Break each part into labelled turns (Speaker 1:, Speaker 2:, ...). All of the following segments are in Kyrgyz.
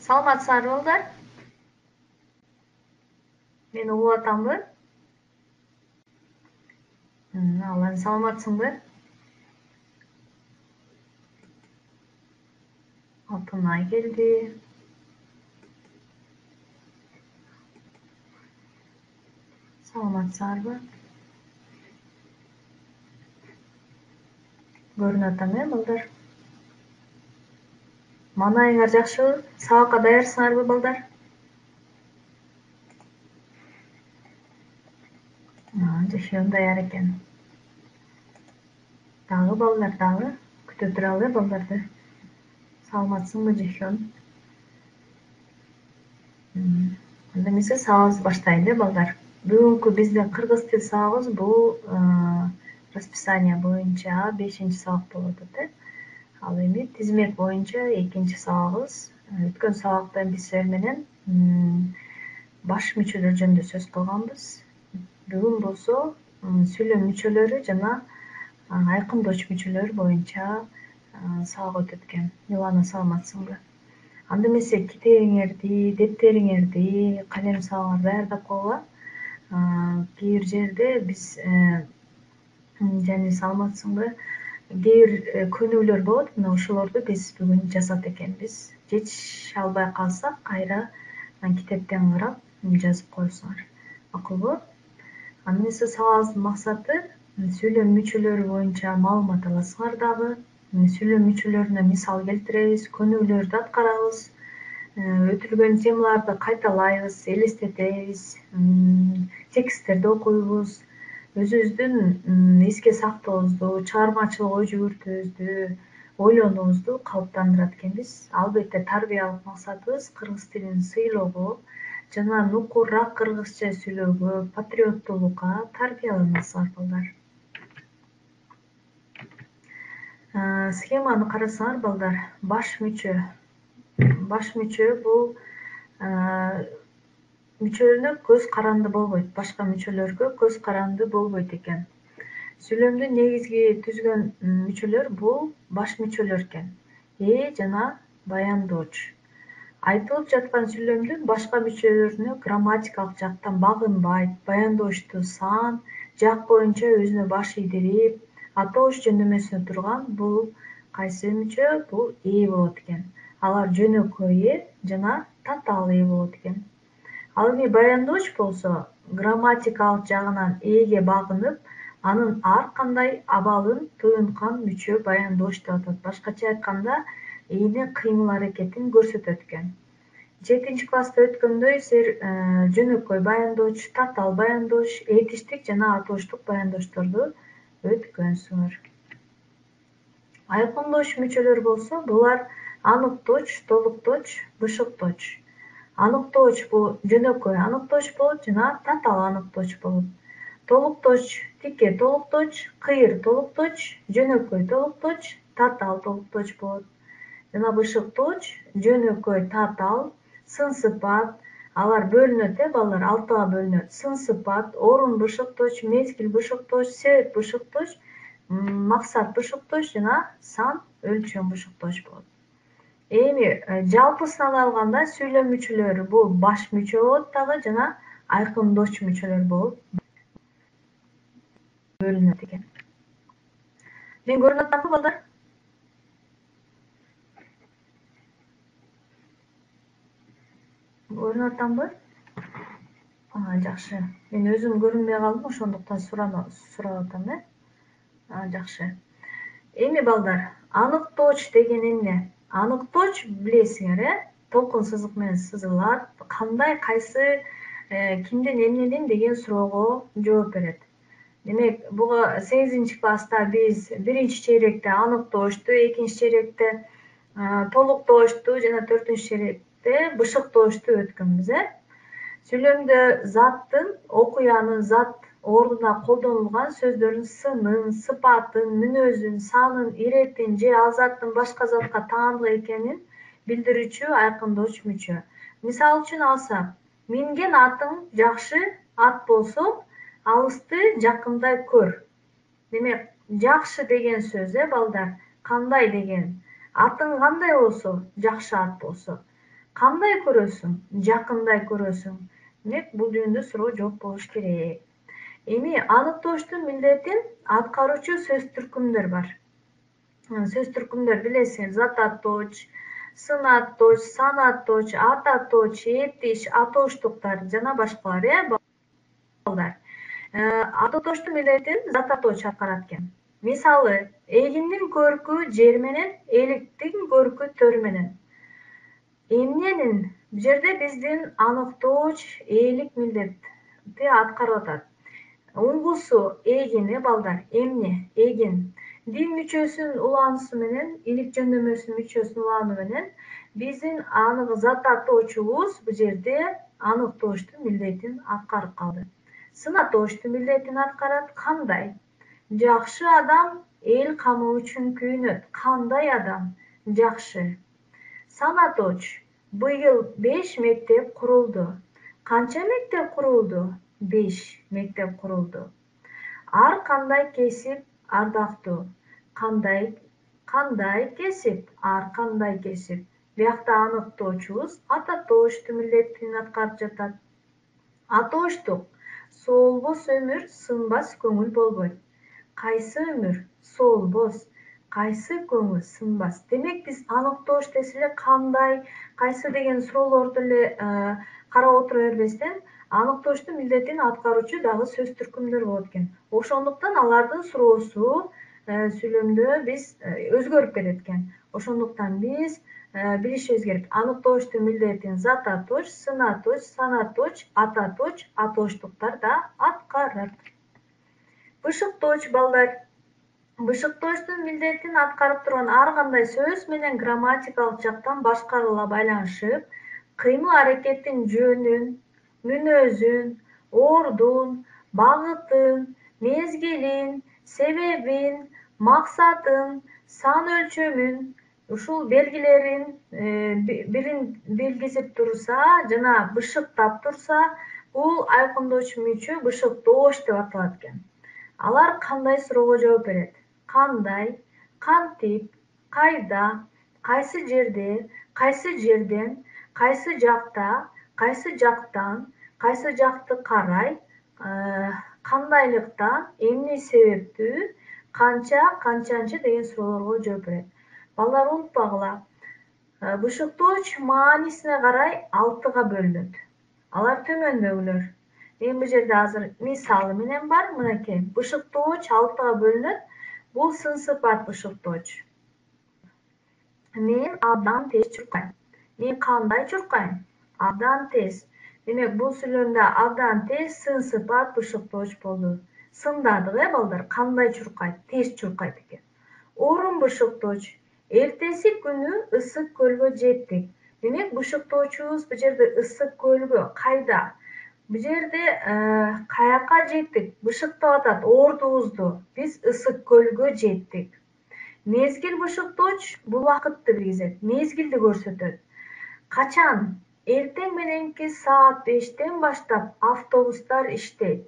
Speaker 1: Саламатсыздарбы балдар? Мени угуп атамбы? Ал саламатсыңбы? Алтынай келди. Саламатсыздарбы? Көрүнүп атам балдар? Маанайыңар жакшыбы? Сабакка даярсыңарбы балдар? Жашоон даяр экен. Дагы балдар дагы күтө туралы балдарды. Саламатсыңбы Жашоон? Анда эмесе сабагыбызды баштайлы балдар. Бүгүнкү биздин кыргыз тил сабагыбыз бул расписание боюнча 5-сабак болуп атат. Ал эми тизмек боюнча 2 сабагыбыз. Өткөн сабакта биз силер менен баш мүчөлөр жөнүндө сөз кылганбыз. Бүгүн болсо сүйлөм мүчөлөрү жана айкындооч мүчөлөр боюнча сабак өтөт экен. Милана, саламатсыңбы? Анда эмесе китебиңерди, дептериңерди, калем сабагыңарды даярдап койгула. Кээ бир жерде биз жана саламатсыңбы? Кээ бир көнүгүүлөр болот, мына ошолорду биз бүгүн жазат экенбиз. Жетише албай калсак, кайра китептен карап жазып коесуңар. Макулбу? Анда эмесе сабагыбыздын максаты сүйлөм мүчөлөрү боюнча маалымат аласыңар дагы. Сүйлөм мүчөлөрүнө мисал келтиребиз, көнүгүүлөрдү аткарабыз, өтүлгөн темаларды кайталайбыз, элестетебиз, тексттерди окуйбуз, өзүбүздүн эске сактообузду, чыгармачылык ой жүгүртүүбүздү, ойлонуубузду калыптандырат экенбиз. Албетте тарбиялык максатыбыз кыргыз тилин сыйлоого жана нукурраак кыргызча сүйлөөгө, патриоттуулукка тарбияланасыңар балдар. Схеманы карасаңар балдар, баш мүчө. Баш мүчө бул мүчөлөрүнө көз каранды болбойт, башка мүчөлөргө көз каранды болбойт экен. Сүйлөмдү негизги түзгөн мүчөлөр бул баш мүчөлөр экен. Жана баяндооч. Айтылып жаткан сүйлөмдүн башка мүчөлөрүнө грамматикалык жактан багынбайт, баяндоочту сан, жак боюнча өзүнө баш ийдирип, атооч жөндөмөсүнө турган бул кайсы мүчө? Бул болот экен. Алар жөнөкөй жана татаал болот экен. Ал эми баяндооч болсо, грамматикалык жагынан ге багынып, анын ар кандай абалын туюнткан мүчө баяндооч деп аталат. Башкача айтканда, энин кыймыл аракетин көрсөтөт экен. 7-класста өткөндөй силер жөнөкөй баяндооч, татаал баяндооч, этиштик жана атоочтук баяндоочторду өткөнсүңөр. Айкындооч мүчөлөр болсо, булар аныктооч, толуктооч, бышыктооч. Аныктооч бул жөнөкөй аныктооч болот жана татаал аныктооч болот. Толуктооч тике толуктооч, кыйыр толуктооч, жөнөкөй толуктооч, татаал толуктооч болот. Жана бышыктооч жөнөкөй, татаал, сын сыпат, алар бөлүнөт балдар, 6 бөлүнөт. Сын сыпат, орун бышыктооч, мезгил бышыктооч, себеп бышыктооч, максат бышыктооч жана сан өлчөм бышыктооч болот. Эми жалпысынан алганда сүйлөм мүчөлөрү бул баш мүчө болот дагы жана айкындооч мүчөлөр болуп бөлүнөт экен. Мен көрүнүп атамбы балдар? Көрүнүп атамбы? Жакшы. Мен өзүм көрүнбөй калдым, ошондуктан сурап атам. Жакшы. Эми балдар, аныктооч деген эмне? Аныктооч билесиңер, толкун сызык менен сызылат. Кандай, кайсы, кимден, эмнеден деген суроого жооп берет. Демек, буга 8-класста биз 1-чейректе аныктоочту, 2-чейректе толуктоочту жана 4-чейректе бышыктоочту өткөнбүз. Сүйлөмдө заттын, окуянын зат ордуна колдонулган сөздөрдүн сынын, сыпатын, мүнөзүн, санын, иретин же ал заттын башка затка таандык экенин билдирүүчү айкындооч мүчө. Мисал үчүн алсак, минген атың жакшы ат болсо, алысты жакындай көр. Демек, жакшы деген сөз балдар, кандай деген? Атың кандай болсо, жакшы ат болсо. Кандай көрөсүң? Жакындай көрөсүң? Демек бул жөнүндө суроо жооп болуш керек. Эми аныктооштун милдетин аткаруучу сөз түркүмдөр бар. Сөз түркүмдөр билесиңер: зат атооч, сын атооч, сан атооч, ат атооч, этиш, атооштуктар жана башкалар, балдар. Аныктооштун милдетин зат атооч аткарат экен. Мисалы, эгиндин көркү жер менен, эликтин көркү төр менен. Эмненин бул жерде биздин аныктооч ээлик милдетти аткарып атат. Уңгусу эгин, балдар. Эмне? Эгин. Дин мүчөсүнүн улануусу менен, илик жөндөмөсүнүн мүчөсүнүн улануу менен биздин зат атоочубуз бул жерде аныктооштун милдетин аткарып калды. Сын атооштун милдетин аткарат. Кандай? Жакшы адам эл камы үчүн күйүнөт. Кандай адам? Жакшы. Сан атооч: быйыл 5 мектеп курулду. Канча мектеп курулду? 5 мектеп курулду. Ар кандай кесип ардактуу. Кандай кесип? Ар кандай кесип. Биякта аныктоочубуз ат атооштун милдетин аткарып жатат. Атооштук: соолбос өмүр, сынбас көңүл болбойт. Кайсы өмүр? Соолбос. Кайсы көңүл? Сынбас. Демек биз аныктоош десе эле кандай, кайсы деген суроолорду эле карап отура бербестен, аныктооштун милдетин аткаруучу дагы сөз түркүмдөр болот экен. Ошондуктан алардын суроосу сүйлөмдө биз өзгөрүп кетет экен. Ошондуктан биз билишибиз керек: аныктооштун милдетин зат атооч, сын атооч, сан атооч, ат атооч, атооштуктар да аткарат. Бышыктооч, балдар. Бышыктооштун милдетин аткарып турган ар кандай сөз менен грамматикалык жактан башкарууга байланышып, кыймыл-аракеттин жөнүн, мүнөзүн, ордун, багытын, мезгилин, себебин, максатын, сан өлчөмүн, ушул белгилерин бирин белгизип турса жана бышыктап турса, бул айкындоочу мүчө бышыктооч деп аталат экен. Алар кандай суроого жооп берет? Кандай, кантип, кайда, кайсы жерде, кайсы жерден, кайсы жакта, кайсы жактан, кайсы жакты карай, кандайлыктан, эмне себептүү, канча, канчанчы деген суроолорго жооп берет. Балдар, унутпагыла, бышыктооч маанисине карай 6га бөлүнөт. Алар төмөндөгүлөр. Мен бул жерде азыр мисалы менен бар. Мынакей, бышыктооч 6га бөлүнөт. Бул сын сыпат бышыктооч. Мен абдан тез чуркайм. Мен кандай чуркайм? Абдан тез. Демек, бул сүйлөмдө абдан тез сын сыпат бышыктооч болду. Сындадык, балдар. Кандай чуркайт? Тез чуркайт экен. Орун бышыктооч. Эртеси күнү ысык көлгө жеттик. Демек, бышыктоочубуз бул жерде ысык көлгө. Кайда? Бул жерде каяка жеттик? Бышыктап атат ордубузду. Биз ысык көлгө жеттик. Мезгил бышыктооч бул убакытты билгизет. Мезгилди көрсөтөт. Качан? Эртең мененки саат 5тен баштап автобустар иштейт.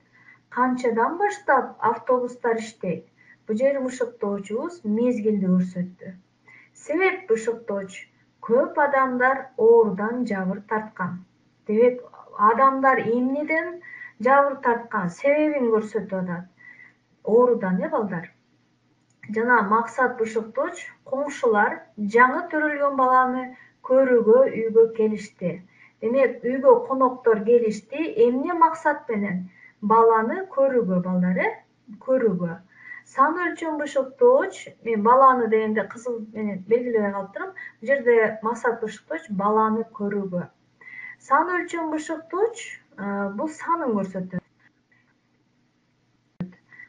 Speaker 1: Канчадан баштап автобустар иштейт? Бул жер бышыктоочубуз мезгилди көрсөттү. Себеп бышыктооч: көп адамдар оорудан жабыр тарткан. Демек, адамдар эмнеден жабыр тарткан? Себебин көрсөтүп атат. Оорудан, балдар. Жана максат бышыктооч: коңшулар жаңы төрөлгөн баланы көрүүгө үйгө келишти. Демек, үйгө коноктор келишти. Эмне максат менен? Баланы көрүүгө, балдар, көрүүгө. Сан өлчөм бышыктооч, мен баланы дегенде кызыл менен белгилебей калыптырмын. Бул жерде максат бышыктооч баланы көрүүгө. Сан өлчөм бышыктооч бул санын көрсөтөт.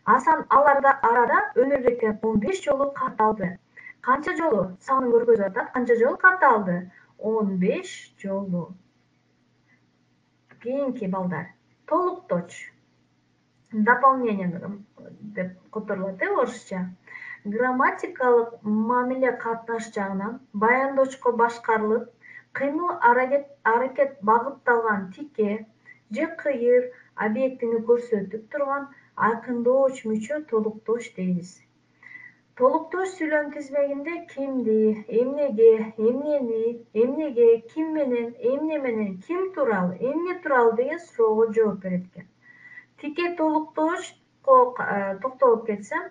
Speaker 1: Аларда арада өмүрбектен 15 жолу катталды. Канча жолу? Санын көргөзүп атат. Канча жолу катталды? 15 жолу. Кийинки, балдар. Толукточ. Дополнение деп которулат, орусча. Грамматикалык мамиле катнаш жагынан баяндоочко башкарылып, кыймыл-аракет багытталган тике же кыйыр объектини көрсөтүп турган айкындооч мүчө толукточ дейбиз. Толуктош сүйлөм тизмегинде кимди, эмнеге, эмнени, эмнеге, ким менен, эмне менен, ким тууралуу, эмне тууралуу деген суроого жооп берет экен. Тике толуктошко токтолуп кетсем,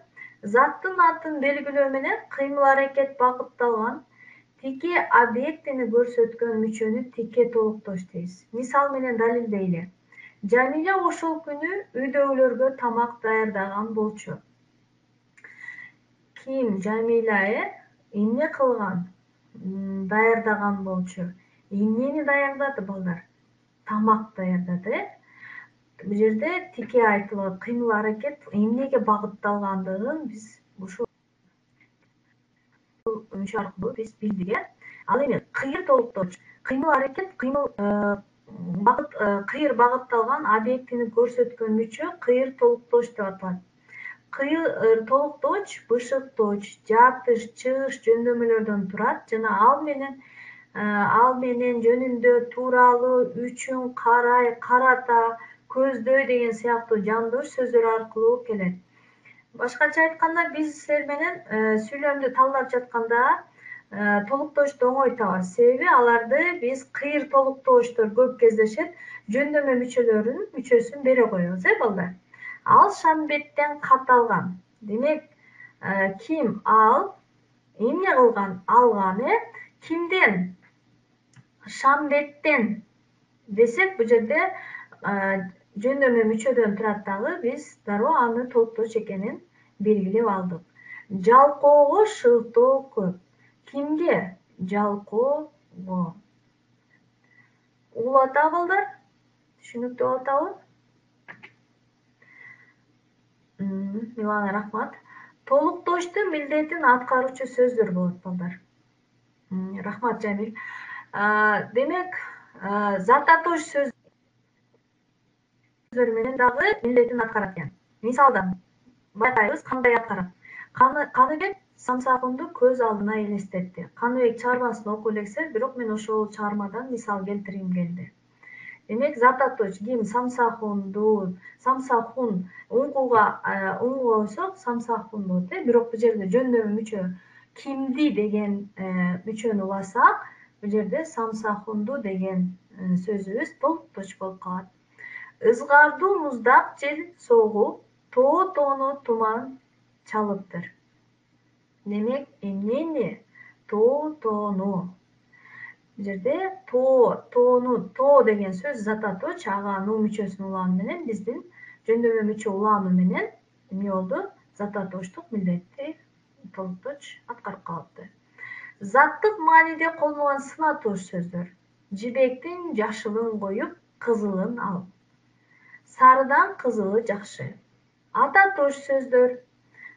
Speaker 1: заттын атын белгилөө менен кыймыл-аракет багытталган тике объектини көрсөткөн мүчөнү тике толуктош дейбиз. Мисал менен далилдейли. Жамиля ошол күнү үйдөгүлөргө тамак даярдаган болчу. Ким Жамиля эмне кылган? Даярдаган болчу. Эмнени даярдады балдар? Тамак даярдады. Бул жерде тике айтылат, кыймыл-аракет эмнеге багытталгандыгын биз ушул мүчө аркылуу биз билдик. Ал эми кыйыр толуктош, кыймыл-аракет, кыйыр багытталган объектини көрсөткөн мүчө кыйыр толуктош деп аталат. Кыйыр толуктош бышыкточ, жатыш, чыгыш жөндөмөлөрдөн турат жана ал менен жөнүндө тууралуу, үчүн, карай, карата, көздөй деген сыяктуу жандош сөздөр аркылуу келет. Башкача айтканда, биз силер менен сүйлөмдү талдап жатканда толуктошду оңой табабыз. Себеби аларды биз кыйыр толуктоштор көп кездешет, жөндөмө мүчөсүн бере коебуз, балдар. Ал Шамбеттен катталган. Демек, ким ал, эмне кылган, алган, кимден? Шамбеттен десек, бул жерде жөндөмө мүчөдөн турат дагы, биз дароо аны толуктош экенин белгилеп алдык. Жалкоого шылтоо көп. Кимге? Жалкоого. Угулуп атабы балдар? Түшүнүктүү болуп атабы? Милана, рахмат. Толуктоштун милдетин аткаруучу сөздөр болот, балдар. Рахмат, Жамил. Демек, зататош сөздөр менен дагы милдетин аткарат экен. Мисалдан байкайбыз, кандай аткарат. Каныбек самсагымды көз алдына элестетти. Каныбек чыгармасын окуй элексе, бирок мен ошол чыгармадан мисал келтиргим келди. Демек, зататош ким? Самсахун унгуга койсок самсахун болот, бирок бул жерде жөндөмө мүчө кимди деген мүчөнү уласак, бул жерде самсахунду деген сөзүбүз толуктош болуп калат. Ызгардуу муздак жел согуп, тоо-тоону туман чалыптыр. Демек, эмнени? Тоо-тоону. Бул жерде тоо деген сөз зататоч, ага нуу мүчөсүнүн улааны менен биздин жөндөмө мүчө улааны менен эмне болду? Зататоштук милдетти толукточ аткарып калыпты. Заттык мааниде колдонулган сынатош сөздөр. Жибектин жашылын коюп, кызылын ал. Сарыдан кызылы жакшы. Ататош сөздөр.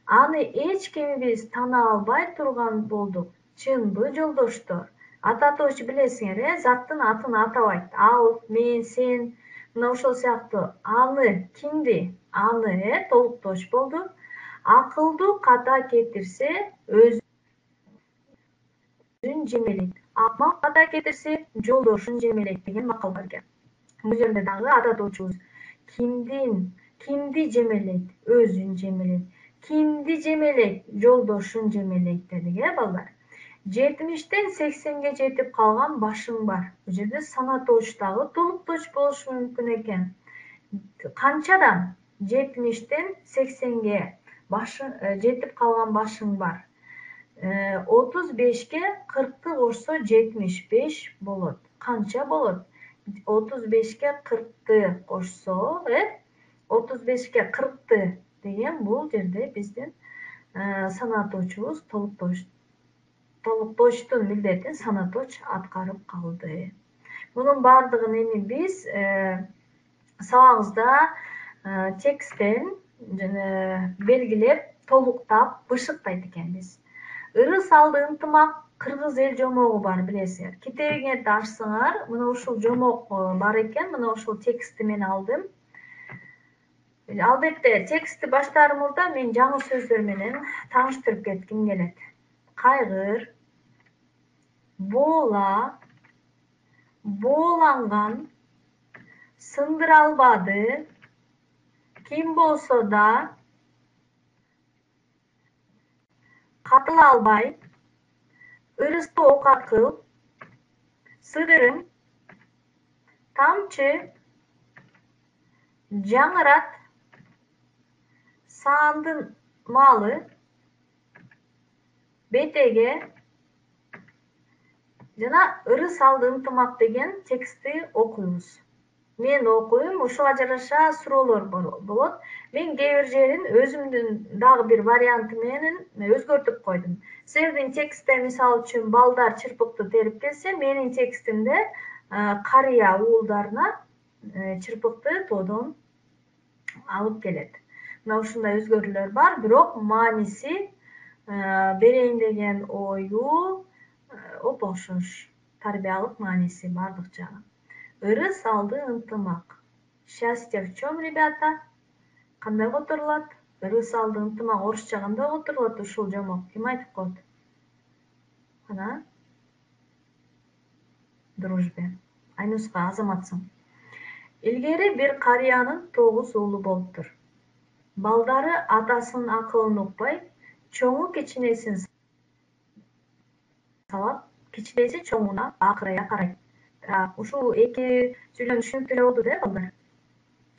Speaker 1: Аны эч кимибиз тана албай турган болдук. Чынбы жолдоштор? Ататош билесиңер, заттын атын атабайт. Ал, мен, сен, мына ошол сыяктуу. Аны кимди? Аны толуктош болду. Акылдуу ката кетирсе, өзүн жемелейт. Акмак ката кетирсе, жолдошун жемелейт деген макал бар экен. Бул жерде дагы ататочубуз кимди жемелейт? Өзүн жемелейт. Кимди жемелейт? Жолдошун жемелейт дедик, балдар. 70-тен 80-ге жетип калган башың бар. Бул жерде санатош дагы толуктош болушу мүмкүн экен. Канчадан? 70-тен 80-ге жетип калган башың бар. 35-ке 40-ты кошсо 75 болот. Канча болот? 35-ке 40-ты кошсо, 35-ке 40-ты деген бул жерде биздин санаточубуз толуктоштун милдетин санаточ аткарып калды. Мунун баардыгын эми биз сабагыбызда тексттен белгилеп, толуктап, бышыктайт экенбиз. Ырыс алды ынтымак кыргыз эл жомогу бар, билесиңер. Китебиңерди ачсаңар, мына ушул жомок бар экен, мына ушул текстти мен алдым. Албетте, текстти баштаар мурда мен жаңы сөздөр менен тааныштырып кетким келет. Кайгыр, боола, бооланган, сындыра албады, ким болсо да, катыла албай, ырысты оокат кыл, сыдырым, тамчы, жаңырат, саандын малы, бетеге жана ырыс алды ынтымак деген текстти окуйбуз. Мен окуйм, ушуга жараша суроолор болот. Мен кээ бир жерин өзүмдүн дагы бир варианты менен өзгөртүп койдум. Силердин текстте мисалы үчүн балдар чырпыкты терип келсе, менин текстимде карыя уулдарына чырпыкты тоодон алып келет. Мына ушундай өзгөрүүлөр бар, бирок мааниси берейин деген ою оп окшош. Тарбиялык мааниси бардык жагы. Ырыс алды ынтымак. Счастье в чем, ребята? Кандай которулат? Ырыс алды ынтымак орусча кандай которулат ушул жомок? Ким айтып коет? Кана? Дружбе. Айнуска, азаматсың. Илгери бир карыянын 9 уулу болуптур. Балдары атасынын акылын укпай, чоңу кичинесин сабап, кичинеси чоңуна акырая карайт. Ушул эки сүйлөм түшүнүктүү эле болду да, балдар?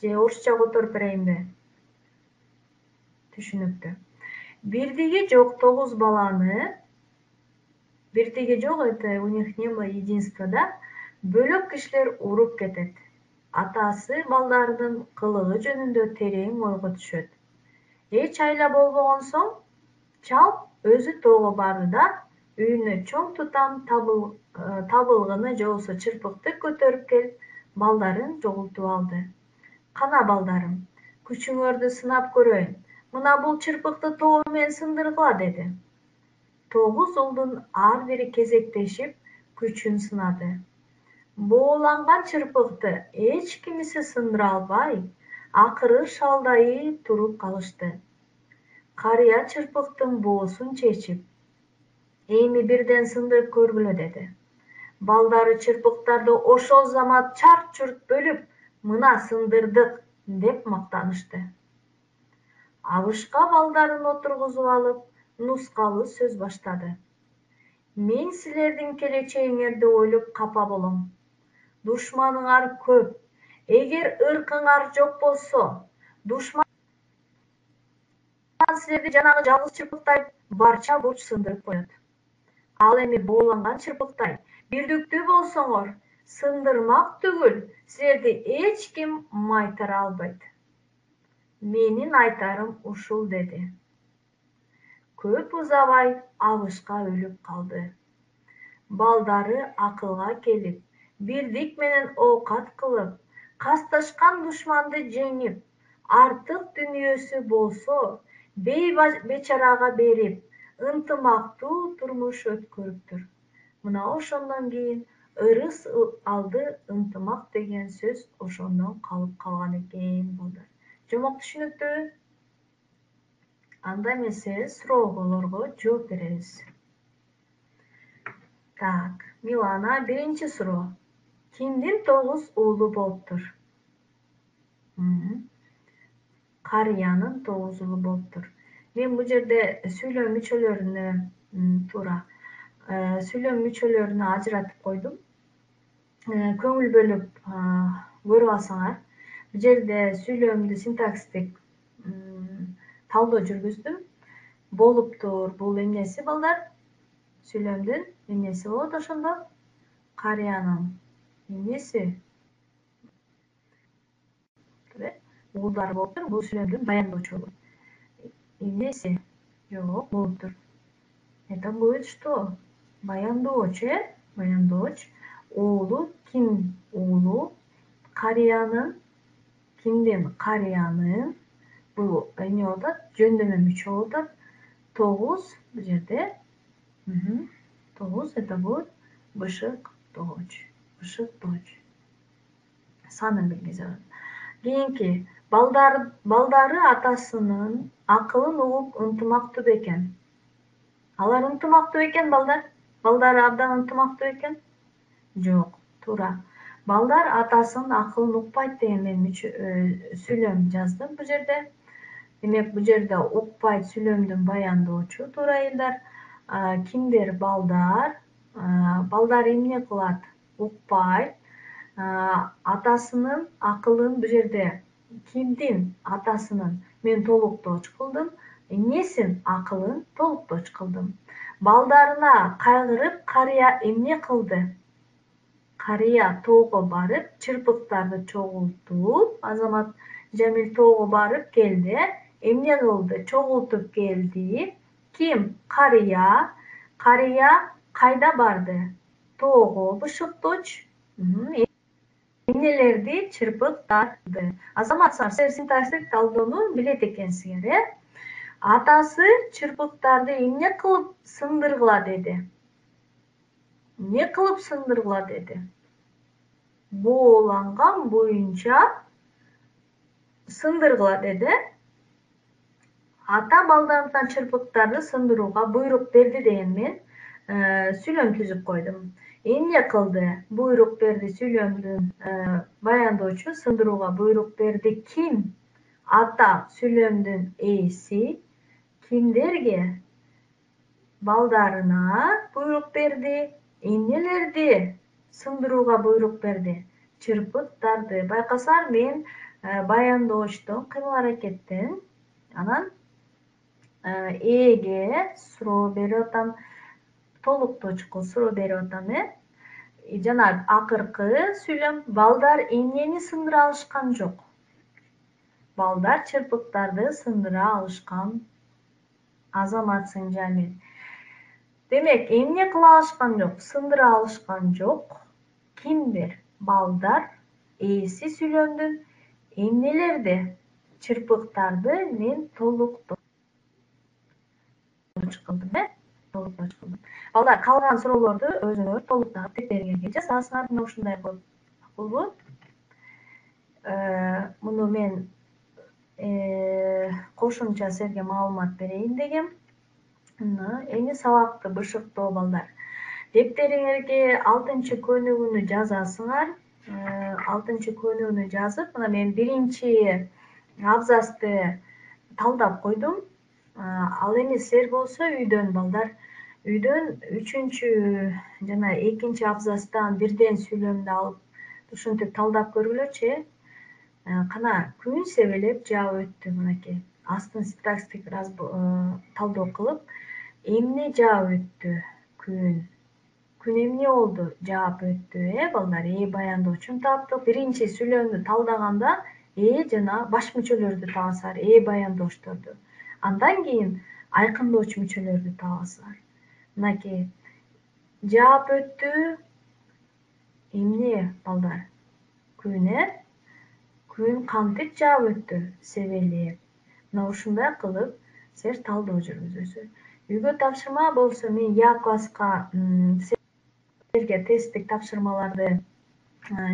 Speaker 1: Же орусча которуп берейинби? Түшүнүктүү. Бирдиги жок 9 баланы, бирдиги жок, это у них не было единства, да? Бөлөк кишилер уруп кетет. Атасы балдарынын кылыгы жөнүндө терең ойго түшөт. Эч айла болбогон соң, чал өзү тоого барды да, үйүнө чоң тутам табылгыны же болбосо чырпыкты көтөрүп келип, балдарын жогултуп алды. Кана балдарым, күчүңөрдү сынап көрөйүн. Мына бул чырпыкты тоо менен сындыргыла, деди. 9 уулдун ар бири кезектешип күчүн сынады. Бооланган чырпыкты эч кимиси сындыра албай, акыры шалдайып туруп калышты. Карыя чырпыктын боосун чечип, эми бирден сындырып көргүлө, деди. Балдары чырпыктарды ошол замат чарт-чурт бөлүп, мына сындырдык, деп мактанышты. Абышка балдарын отургузуп алып, нускалуу сөз баштады. Мен силердин келечегиңерди ойлоп капа болом. Душманыңар көп. Эгер ыркыңар жок болсо, душман силерди жанагы жалгыз чырпыктай барча бурч сындырып коет. Ал эми бооланган чырпыктай бирдиктүү болсоңор, сындырмак түгүл, силерди эч ким майтара албайт. Менин айтарым ушул, деди. Көп узабай Абышка өлүп калды. Балдары акылга келип, бирдик менен оокат кылып, касташкан душманды жеңип, артык дүнүйөсү болсо, бейбечарага берип, ынтымактуу турмуш өткөрүптүр. Мына ошондон кийин ырыс алды ынтымак деген сөз ошондон калып калган экен, балдар. Жомок түшүнүктүүбү? Анда эмесе суроолорго жооп беребиз. Так, Милана, биринчи суроо. Кимдин 9 уулу болуптур? Карыянын 9 уулу болуптур. Мен бул жерде сүйлөм мүчөлөрүнө сүйлөм мүчөлөрүнө ажыратып койдум. Көңүл бөлүп көрүп алсаңар, бул жерде сүйлөмдү синтаксистик талдоо жүргүздүм. Болуптур, бул эмнеси, балдар? Сүйлөмдүн эмнеси болот ошондо? Карыянын эмнеси? Уулдары болуптур, бул сүйлөмдүн баяндоочу болот. Эмнеси? Жок, болуптур. Это будет что? Баяндоочу, Баяндооч. Уулу ким? Уулу карыянын. Кимдин? Карыянын. Бул эмне болуп атат? Жөндөмө мүчө болуп атат. 9 бул жерде. 9 это будет бышык доч. Бышык доч. Санын билгизет. Кийинки балдары атасынын акылын угуп ынтымактуу бекен. Алар ынтымактуу экен, балдар? Балдары абдан ынтымактуу экен? Жок, туура. Балдар атасынын акылын укпайт деген мен сүйлөм жаздым бул жерде. Демек бул жерде укпайт сүйлөмдүн баяндоочу туура элдер. Кимдер? Балдар. Балдар эмне кылат? Укпайт. Атасынын акылын бул жерде кимдин? Атасынын мен толуктооч кылдым. Эмнесин? Акылын толуктооч кылдым. Балдарына кайгырып, карыя эмне кылды? Карыя тоого барып, чырпыктарды чогултуп, Азамат Жамил тоого барып келди. Эмне кылды? Чогултуп келди. Ким? Карыя. Карыя кайда барды? Тоого. Бышыкточ. Эмнелерди? Чырпыктарды. Азамат силер синтаксистик талдоону билет экенсиңер, Атасы чырпыктарды эмне кылып сындыргыла деди? Эмне кылып сындыргыла деди? Бооланган боюнча сындыргыла деди. Ата балдарына чырпыктарды сындырууга буйрук берди деген мен сүйлөм түзүп койдум. Эмне кылды? Буйрук берди сүйлөмдүн баяндоочу сындырууга буйрук берди. Ким? Ата сүйлөмдүн ээси. Кимдерге? Балдарына буйрук берди. Эмнелерди сындырууга буйрук берди? Чырпыктарды. Байкасаңар мен баяндоочтон кыймыл-аракеттен анан ээге суроо берип атам, толуктоочко суроо берип атам. Жана акыркы сүйлөм балдар эмнени сындыра алышкан жок? Балдар чырпыктарды сындыра алышкан. Азаматсың Жамил. Демек, эмне кыла алышкан жок? Сындыра алышкан жок. Кимдер? Балдар. Ээси сүйлөмдүн. Эмнелерди? Чырпыктарды мен толуктооч кылдым. Толуктооч кылдым. Балдар, калган суроолорду өзүңөр толуктап беттериңерге жазасыңар. Мына ушундай кылып. Макулбу? Муну мен кошумча силерге маалымат берейин дегем. Эми сабакты бышыктоо балдар. Дептериңерге 6-көнүгүүнү жазасыңар. 6-көнүгүүнү жазып, мына мен 1 абзацты талдап койдум. Ал эми силер болсо үйдөн балдар, үйдөн 3 жана 2 абзацтан бирден сүйлөмдү алып, ушинтип талдап көргүлөчү. Кана күн себелеп жаап өттү. Мынакей астын синтаксистик талдоо кылып, эмне жаап өттү? Күн. Күн эмне болду? Жаап өттү, балдар. Баяндоочун таптык. Биринчи сүйлөмдү талдаганда жана баш мүчөлөрдү табасыңар, баяндоочторду. Андан кийин айкындоочу мүчөлөрдү табасыңар. Мынакей жаап өттү. Эмне, балдар? Күн, Күн кантип жаап өттү? Себелеп. Мына ушундай кылып силер талдоо жүргүзөсүздөр. Үйгө тапшырма болсо мен класска силерге тесттик тапшырмаларды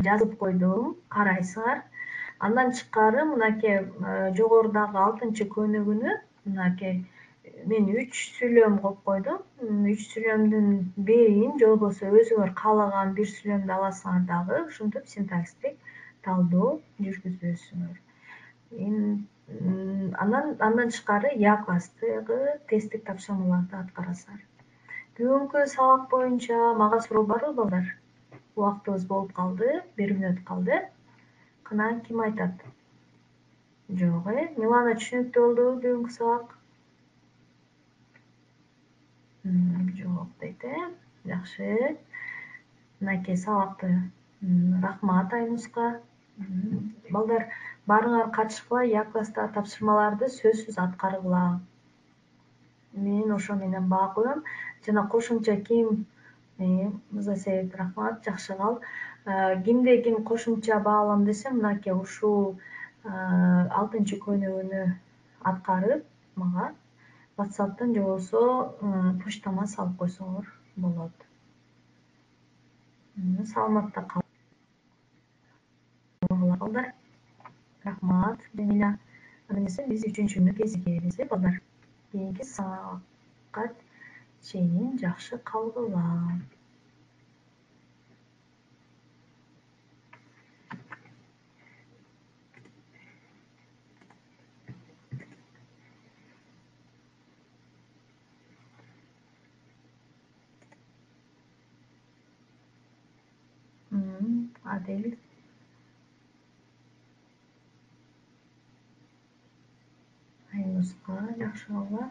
Speaker 1: жазып койдум, карайсыңар. Андан тышкары мынакей жогорудагы 6-көнүгүүнү мынакей мен 3 сүйлөм кылып койдум. 3 сүйлөмдүн бирин же болбосо өзүңөр каалаган бир сүйлөмдү аласыңар дагы, ушинтип синтаксистик талдоо жүргүзөсүңөр. Андан тышкары класстагы тесттик тапшырмаларды аткарасыңар. Бүгүнкү сабак боюнча мага суроо барбы, балдар? Убактыбыз болуп калды, 1 мүнөт калды. Кана ким айтат? Жок, Милана түшүнүктүү болдубу бүгүнкү сабак? Жок дейт, Жакшы. Мынакей сабакты рахмат Айнуска. Балдар, баарыңар катышкыла, класстагы тапшырмаларды сөзсүз аткаргыла. Мен ошо менен баа коем. Жана кошумча ким Мырзасейит, рахмат, жакшы кал. Кимде ким кошумча баалам десе, мынакей ушул 6-көнүгүүнү аткарып, мага WhatsApp'тан же болбосо почтама салып койсоңор болот. Саламатта калгыла, балдар. Рахмат, Жамиля. Анда эмесе биз 3-күнү кезигебиз, балдар. Кийинки сабакка чейин жакшы калгыла. Адил. Айнуска жакшы кабыл.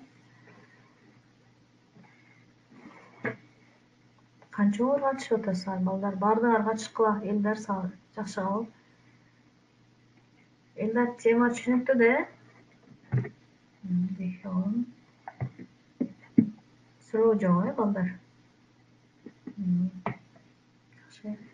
Speaker 1: Канча оор катышып атасыздар балдар? Баардыгы катышкыла. Элдар жакшы кабыл. Элдар тема түшүнүктүү да, э? Дехон. Суроо жок, балдар? Жакшы.